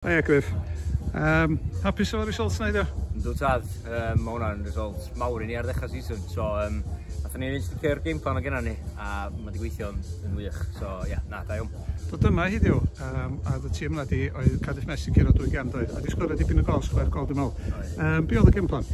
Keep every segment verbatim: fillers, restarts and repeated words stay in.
Hiya Griff. Um, hapus efo'r results na heddiw? Yndw tad, um, mae hwnna'n result mawr i ni ar ddechrau season. So, um, nathon ni sticio'r game plan o genna ni, a mae wedi gweithio yn, yn wych. So, ie, yeah, na, da iawn. Dod yma heddiw, um, a y tîm yna di, oedd Cardiff Met yn curo dwy gem doedd, a di sgorio dipyn o gols, chwech gol dwi'n meddwl. Um, be oedd y game plan?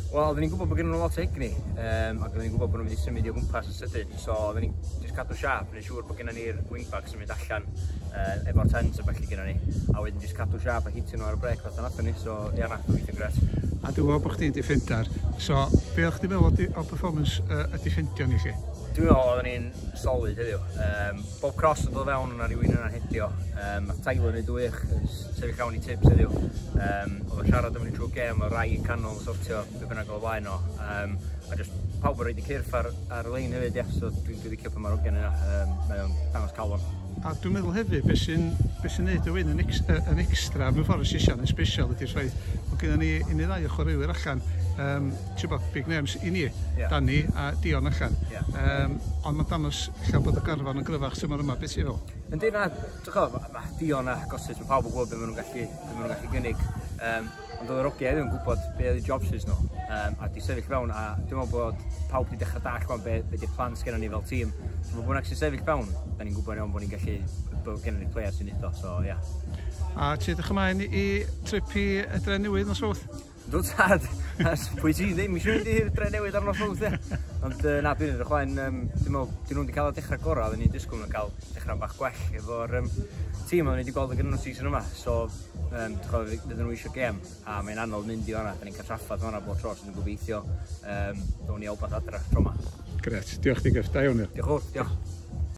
Wel, oedden ni'n gwybod bod gen nhw lot o egni, um, ac oedden ni'n gwybod bod nhw'n mynd i symud i o gwmpas yn sydyn, so oedden ni'n just cadw siap, yn siŵr bod gennym ni'r wingbacks yn mynd allan uh, efo'r tens a felly gennym ni, a wedyn just cadw siap a hitio nhw ar y brec fatha nathon ni, so ia na, gweithio'n gret. A dwi'n gwybod bod chdi'n defender, so be o'ch chdi'n meddwl o, di- o performance uh, y defendio ni chi? Dwi'n meddwl oedden ni'n solid heddiw. Um, bob cross yn dod fewn yna rhywun yna'n hedio. Um, nath Tyler neud wych, yn sefyll fewn i tips heddiw. Um, oedd o'n siarad efo ni trwy'r gêm, o rai yn canol yn sortio be bynnag o flaen o. Um, a just pawb yn rhoid i cyrff ar, ar y lein hefyd, ie. So dwi'n dwi licio pan mae'r hogiau yna. Um, mae o'n dangos calon. A dwi'n meddwl hefyd, beth sy'n be sy'n neud y win yn, ex, yy, yn extra, mewn ffordd sisian yn special ydy'r ffaith bod gennym ni un neu ddau o chwaraewyr allan, um, ti'n bod, big names i ni, Ie. Danny a Dion allan. Ie. Um, ond mae'n dangos ella bod y garfan yn gryfach tymor yma, beth ti'n feddwl? Yndi na, ti'n gwybod, ma, ma Dion a Gossett, mae pawb yn gwybod beth maen nhw'n gallu, be maen nhw'n gallu gynnig. Um, ond oedd yr hogiau heddiw yn gwybod be oedd eu jobs nhw. Um, a di sefyll fewn, a dwi'n meddwl bod pawb di dechrau dallt wan be, be di'r plans gennym ni fel tîm. So mae bynnag sy'n sefyll fewn, da ni'n gwybod iawn bod ni'n gallu, bod gennym ni players sy'n neud o, so ie. Yeah. A ti edrych ymlaen i trip i y Dre Newydd nos Fawrth? Dw tad, pwy ti ddim eisiau mynd i'r Dre Newydd ar nos Fawrth, ie. Ond uh, na, dwi'n edrych ymlaen, um, dwi'n meddwl, dyn nhw'n wedi cael y dechrau gorau, oedden ni'n disgwyl nhw'n cael dechrau bach gwell efo'r um, tîm oedden ni wedi gweld yn gyda nhw season yma. So, um, fydden nhw eisiau gêm, a mae'n anodd mynd i fanna, da ni'n cael trafferth fanna bob tro, so dwi'n gobeithio um, down ni o wbath adra tro yma. Gret, diolch ti Griff, da iawn. Diolch yn fawr, diolch.